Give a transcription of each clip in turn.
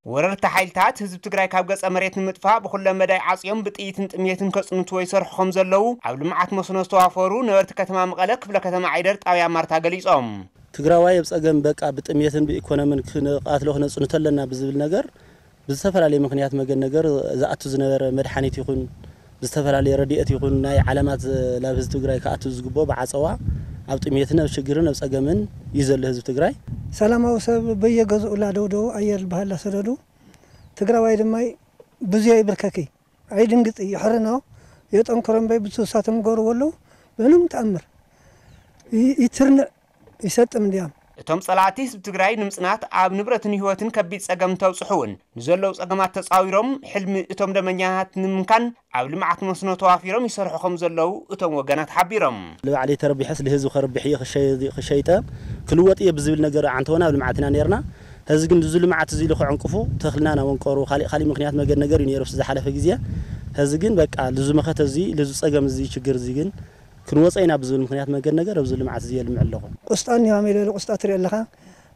ወረርቲ ሓይልታት ህዝቢ ትግራይ ካብ ገጸ መሬት ንምጥፋእ ብኹለ መዳይ ዓጽዮም ብጥይትን ጥሜትን ከጽንትዎ ይሰርሑ ከም ዘለዉ ኣብ ልምዓት መስኖ ዝተዋፈሩ ነበርቲ ከተማ መቐለ ክፍለ ከተማ ዓይደር ጣብያ ማርታ ገሊጾም። ትግራዋይ ኣብ ጸገም በቃ ብጥሜትን ብኢኮኖምን ክንቃትሎ ክነጽንቶ ኣለና ብዝብል ነገር ብዝተፈላለየ ምክንያት መገድ ነገር ዝኣቱ ዝነበረ መድሓኒት ይኹን ብዝተፈላለየ ረድኤት ይኹን ናይ ዓለማት ናብ ህዝቢ ትግራይ ክኣቱ ዝግብኦ ብዓጸዋ ኣብ ጥሜትን ኣብ ሽግርን ኣብ ጸገምን እዩ ዘሎ ህዝቢ ትግራይ። ሰላማዊ ሰብ በየገዝኡ ላደውደው ኣየር ዝበሃል ላሰደዱ ትግራዋይ ድማ ብዙ ይብርከኪ ኣይድንግጽ ይሕርኖ የጠንክሮ እምበይ ብትውሳቶም ገርዎ ኣለዉ። ምንም ተኣምር ይ- ይትርንዕ ይሰጥም እንዲያም። እቶም ጸላእቲ ህዝቢ ትግራይ ንምጽናት ኣብ ንብረትን ህይወትን ከቢድ ጸገም እንተብጽሑ እውን ንዘለዉ ጸገማት ተጻዊሮም ሕልሚ እቶም ደመኛታት ንምምካን ኣብ ልምዓት መስኖ ተዋፊሮም ይሰርሑ ከም ዘለዉ እቶም ወገናት ሓቢሮም። ንባዕለይ ተረቢሐስ ንህዝቢ ከርብሕ እየ ክሸይጠ ክልወጥ እየ ብዝብል ነገር ኣንተወና ኣብ ልምዓት ኢና ነርና። ሕዚ ግን እዚ ልምዓት እዚ ኢሉ ከዕንቅፉ ተኽልና ናወንቀሩ ካሊእ ካሊእ ምክንያት መገድ ነገር እዩ ነይሩ ዝሓለፈ ግዜ። ሕዚ ግን በቃ ልዙ መኸተ እዚ ልዙ ጸገም እዚ ችግር እዚ ግን ክንወፀ ኢና ብዝብል ምክንያት መገድ ነገር ኣብዚ ልምዓት እዚ የልምዕ ኣለኹ። ቁስጣ እኒሆ ኣሜለለ ቁስጣ ትሪኦ ኣለኻ።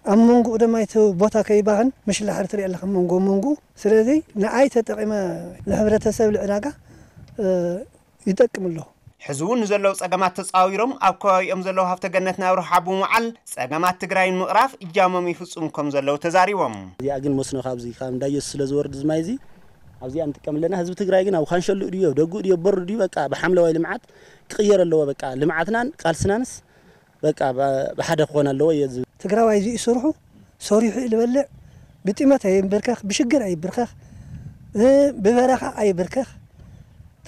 ኣብ መንጎኡ ድማ እቲ ቦታ ከይባኽን ምሽላሕር ትሪኦ ኣለኻ መንጎ መንጎ። ስለዚ ንኣይ ተጠቒመ ንሕብረተሰብ ልዕዳጋ ይጠቅም ኣለኹ። ሕዚ እውን ንዘለዉ ጸገማት ተጻዊሮም ኣብ ከባቢኦም ዘለዉ ሃፍተ ገነት ናብ ረብሓ ብምውዓል ጸገማት ትግራይ ንምቕራፍ እጃሞም ይፍጽሙ ከም ዘለዉ ተዛሪቦም። እዚኣ ግን መስኖ ካብዚ ካብ እንዳየሱ ስለ ዝወርድ ዝማይ እዚ ኣብዚኣ ንጥቀም ኣለና። ህዝቢ ትግራይ ግን ኣብ ካንሸሉ ድዮ ደጉ ድዮ በሩ ድዩ በቃ ብሓምለዋይ ልምዓት ክቕየር ኣለዎ። በቃ ልምዓትናን ቃልስናንስ በቃ ብሓደ ክኾን ኣለዎ እየ ዝብል። ትግራዋይ እዚ ስርሑ ሰሪሑ እዩ ዝበልዕ። ብጥመት ኣይንብርከኽ፣ ብሽግር ኣይብርከኽ፣ ብበረኻ ኣይብርከኽ።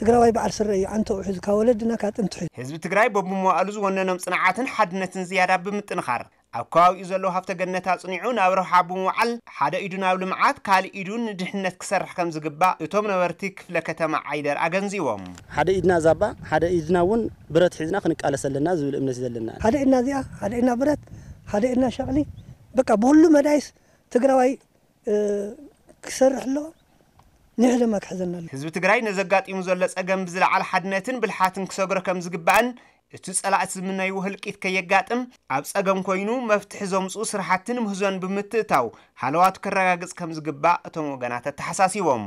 ትግራዋይ በዓል ስረ እዩ ዓንተኡ ሒዙ ካብ ወለድና ካብ ጥንቲ ሒዙ። ህዝቢ ትግራይ በብመዋእሉ ዝወነኖም ጽንዓትን ሓድነትን ዝያዳ ብምጥንኻር ኣብ ከባቢኡ ዘለዉ ሃፍተ ገነት ኣጽኒዑ ናብ ረብሓ ብምውዓል ሓደ ኢዱ ናብ ልምዓት ካልእ ኢዱ ንድሕነት ክሰርሕ ከም ዝግባእ እቶም ነበርቲ ክፍለ ከተማ ዓይደር ኣገንዚቦም። ሓደ ኢድና ዛባ ሓደ ኢድና እውን ብረት ሒዝና ክንቃለስ ኣለና ዝብል እምነት እዩ ዘለና። ሓደ ኢድና እዚኣ ሓደ ኢድና ብረት ሓደ ኢድና ሸቕሊ በቃ ብኩሉ መዳይስ ትግራዋይ ክሰርሕ ኣለዎ። ንሕ ድማ ክሕዘና ኣሎ። ህዝቢ ትግራይ ነዘጋጢሙ ዘሎ ጸገም ብዝለዓለ ሓድነትን ብልሓትን ክሰግሮ ከም ዝግባእን እቲ ጸላእቲ ዝምነይዎ ህልቂት ከየጋጥም ኣብ ጸገም ኮይኑ መፍትሒ ዘምጽኡ ስራሕቲ ንምህዞን ብምትእታው ሃለዋቱ ከረጋግጽ ከም ዝግባእ እቶም ወገናት ኣተሓሳሲቦም።